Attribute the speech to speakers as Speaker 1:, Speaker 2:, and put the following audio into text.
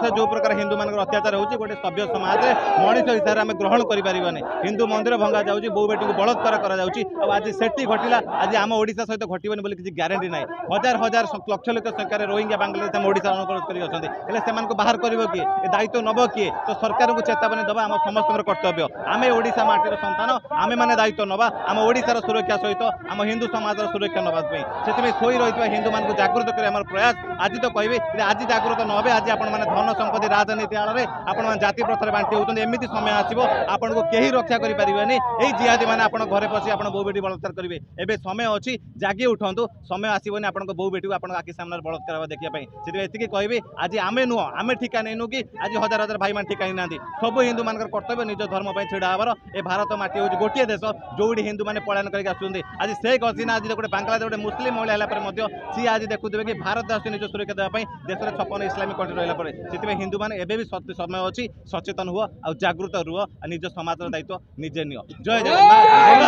Speaker 1: ବାଂଲାଦେଶରେ ଯେଉଁ ପ୍ରକାର ହିନ୍ଦୁମାନଙ୍କର ଅତ୍ୟାଚାର ହେଉଛି, ଗୋଟେ ସଭ୍ୟ ସମାଜରେ ମଣିଷ ହିସାବରେ ଆମେ ଗ୍ରହଣ କରିପାରିବାନି। ହିନ୍ଦୁ ମନ୍ଦିର ଭଙ୍ଗା ଯାଉଛି, ବୋଉ ବେଟିକୁ ବଳାତ୍କାର କରାଯାଉଛି। ଆଉ ଆଜି ସେଠି ଘଟିଲା, ଆଜି ଆମ ଓଡ଼ିଶା ସହିତ ଘଟିବନି ବୋଲି କିଛି ଗ୍ୟାରେଣ୍ଟି ନାହିଁ। ହଜାର ହଜାର ଲକ୍ଷ ଲକ୍ଷ ସଂଖ୍ୟାରେ ରୋହିଙ୍ଗ୍ୟା ବାଂଲାଦେଶ ଆମ ଓଡ଼ିଶା ଅନୁପ୍ରବେଶ କରି ଅଛନ୍ତି। ହେଲେ ସେମାନଙ୍କୁ ବାହାର କରିବ କିଏ? ଏ ଦାୟିତ୍ୱ ନେବ କିଏ? ତ ସରକାରଙ୍କୁ ଚେତାବନୀ ଦେବା ଆମ ସମସ୍ତଙ୍କର କର୍ତ୍ତବ୍ୟ। ଆମେ ଓଡ଼ିଶା ମାଟିର ସନ୍ତାନ, ଆମେମାନେ ଦାୟିତ୍ୱ ନେବା ଆମ ଓଡ଼ିଶାର ସୁରକ୍ଷା ସହିତ ଆମ ହିନ୍ଦୁ ସମାଜର ସୁରକ୍ଷା ନେବା ପାଇଁ। ସେଥିପାଇଁ ଶୋଇ ରହିଥିବା ହିନ୍ଦୁମାନଙ୍କୁ ଜାଗୃତ କରି ଆମର ପ୍ରୟାସ। ଆଜି ତ କହିବି ଯେ ଆଜି ଜାଗୃତ ନ ହେବେ, ଆଜି ଆପଣମାନେ ଧନ ସମ୍ପତ୍ତି ରାଜନୀତି ଆଳରେ ଆପଣମାନେ ଜାତି ପ୍ରଥାରେ ବାଣ୍ଟି ହେଉଛନ୍ତି। ଏମିତି ସମୟ ଆସିବ ଆପଣଙ୍କୁ କେହି ରକ୍ଷା କରିପାରିବେନି। ଏଇ ଜିହାଦୀ ମାନେ ଆପଣ ଘରେ ପଶି ଆପଣ ବୋଉ ବେଟି ବଳାତ୍କାର କରିବେ। ଏବେ ସମୟ ଅଛି, ଜାଗି ଉଠନ୍ତୁ। ସମୟ ଆସିବନି ଆପଣଙ୍କ ବୋଉ ବେଟିକୁ ଆପଣଙ୍କ ଆଖି ସାମ୍ନାରେ ବଳାତ୍କାର ହେବା ଦେଖିବା ପାଇଁ। ସେଥିପାଇଁ ଏତିକି କହିବି, ଆଜି ଆମେ ନୁହଁ, ଆମେ ଠିକା ନେଇନୁ କି ଆଜି ହଜାର ହଜାର ଭାଇମାନେ ଠିକା ନେଇନାହାନ୍ତି। ସବୁ ହିନ୍ଦୁମାନଙ୍କର କର୍ତ୍ତବ୍ୟ ନିଜ ଧର୍ମ ପାଇଁ ଛିଡ଼ା ହେବାର। ଏ ଭାରତ ମାଟି ହେଉଛି ଗୋଟିଏ ଦେଶ ଯୋଉଠି ହିନ୍ଦୁମାନେ ପଳାୟନ କରିକି ଆସୁଛନ୍ତି। ଆଜି ଶେଖ ହସିନା ଆଜି ଗୋଟେ ବାଂଲାଦେଶ ଗୋଟେ ମୁସଲିମ ମହିଳା ହେଲା ପରେ ମଧ୍ୟ ସିଏ ଆଜି ଦେଖୁଥିବେ କି ଭାରତ ଆସୁଛି ନିଜ ସୁରକ୍ଷା ଦେବା ପାଇଁ, ଦେଶରେ 56 ଇସଲାମିକ କଣ୍ଟ୍ରି ରହିଲା ପରେ। ସେଥିପାଇଁ ହିନ୍ଦୁମାନେ ଏବେ ବି ସମୟ ଅଛି, ସଚେତନ ହୁଅ ଆଉ ଜାଗୃତ ରୁହ ଆଉ ନିଜ ସମାଜର ଦାୟିତ୍ୱ ନିଜେ ନିଅ। ଜୟ ଜଗନ୍ନାଥ।